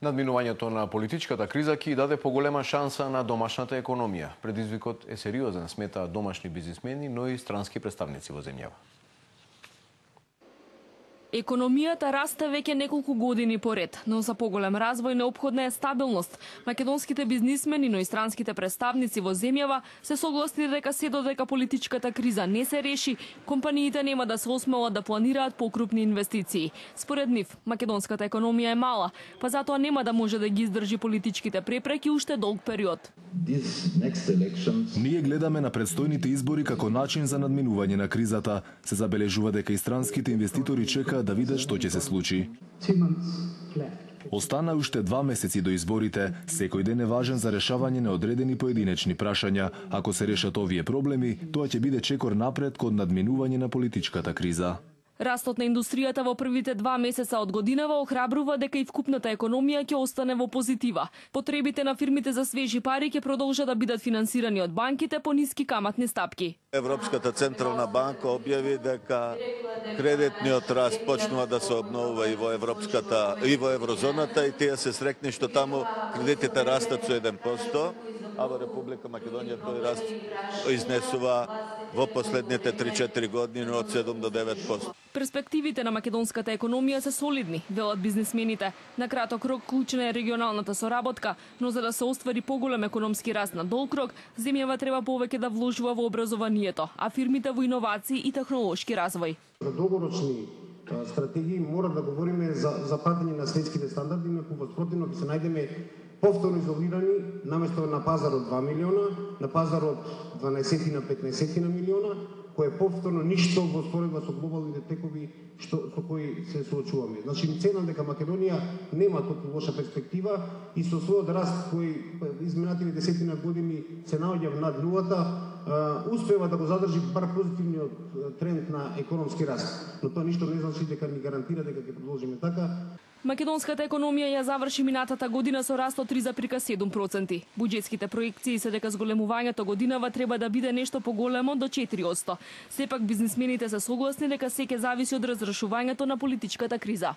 Надминувањето на политичката криза ќе даде поголема шанса на домашната економија. Предизвикот е сериозен, смета домашни бизнисмени, но и странски представници во земјава. Економијата расте веќе неколку години поред, но за поголем развој неопходна е стабилност. Македонските бизнисмени, но и странските представници во земјава се согласни дека се додека политичката криза не се реши, компаниите нема да се осмелат да планираат покрупни инвестиции. Според нив, македонската економија е мала, па затоа нема да може да ги издржи политичките препреки уште долг период. Ние гледаме на предстојните избори како начин за надминување на кризата. Се забележува дека и странските инвеститори чекаат да видат што ќе се случи. Остана уште 2 месеци до изборите. Секој ден е важен за решавање на одредени поединечни прашања. Ако се решат овие проблеми, тоа ќе биде чекор напред кон надминување на политичката криза. Растот на индустријата во првите 2 месеца од годинава охрабрува дека и вкупната економија ќе остане во позитива. Потребите на фирмите за свежи пари ќе продолжат да бидат финансирани од банките по ниски каматни стапки. Европската централна банка објави дека кредитниот раст почнува да се обновува и во еврозоната и тие се срекни што таму кредитите растат со 1%, а во Република Македонија тој раст изнесува во последните 3-4 години од 7 до 9%. Перспективите на македонската економија се солидни, велат бизнисмените. На краток рок клучна е регионалната соработка, но за да се оствари поголем економски раст на долг рок, земјава треба повеќе да вложува во образованието, а фирмите во иновации и технолошки развој. За долгорочни стратегии мора да говориме за пратење на светските стандарди, инаку во спротивно ќе се најдеме повторно изолирани, наместо на пазарот 2 милиона, на пазарот 12 на 15 на милиона, кој е повторно ништо во споредба со глобалните текови со кои се соочуваме. Значи, ценам дека Македонија нема толку лоша перспектива и со својот раст кој изминатите десетина години се наоѓа над нулата, успева да го задржи бар позитивниот тренд на економски раст. Но тоа ништо не значи дека ни гарантира дека ќе продолжиме така. Македонската економија ја заврши минатата година со раст од 3,7%. Буџетските проекции се дека зголемувањето годинава треба да биде нешто поголемо до 4%. Сепак бизнисмените се согласни дека се ќе зависи од разрешувањето на политичката криза.